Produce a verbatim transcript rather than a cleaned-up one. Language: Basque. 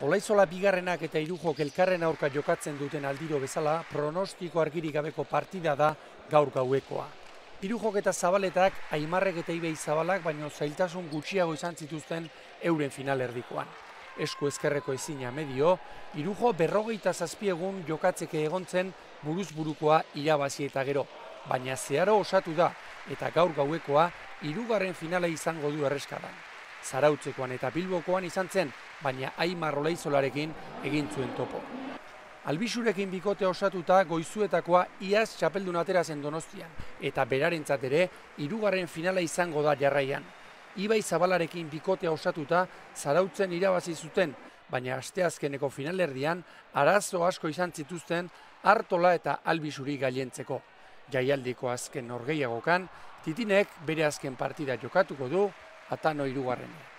Olaizola bigarrenak eta Irujok elkarren aurka jokatzen duten aldiro bezala, pronostiko argirik gabeko partida da gaur gauekoa. Irujok eta Zabaletak, Aimarrek eta Ibei Zabalak, baino zailtasun gutxiago izan zituzten euren finalerdikoan. Esku ezkerreko ezina medio, Irujo berrogeita zazpi egun jokatzeke egontzen buruz burukoa irabazi eta gero, baina zeharo osatu da eta gaur gauekoa hirugarren finala izango du erreskadan. Zarautzekoan eta Bilbokoan izan zen, baina Aimar Olaizolarekin egin zuen topo. Albisurekin bikote osatuta goizuetakoa iaz txapeldun atera zen Donostian, eta berarentzat ere hirugarren finala izango da jarraian. Ibei Zabalarekin bikotea osatuta Zarautzen irabazi zuten, baina asteazkeneko finalerdian arazo asko izan zituzten Artola eta Albisuri gailentzeko. Jaialdiko azken norgehiagokan, Titinek bere azken partida jokatuko du, Atano hirugarrenean.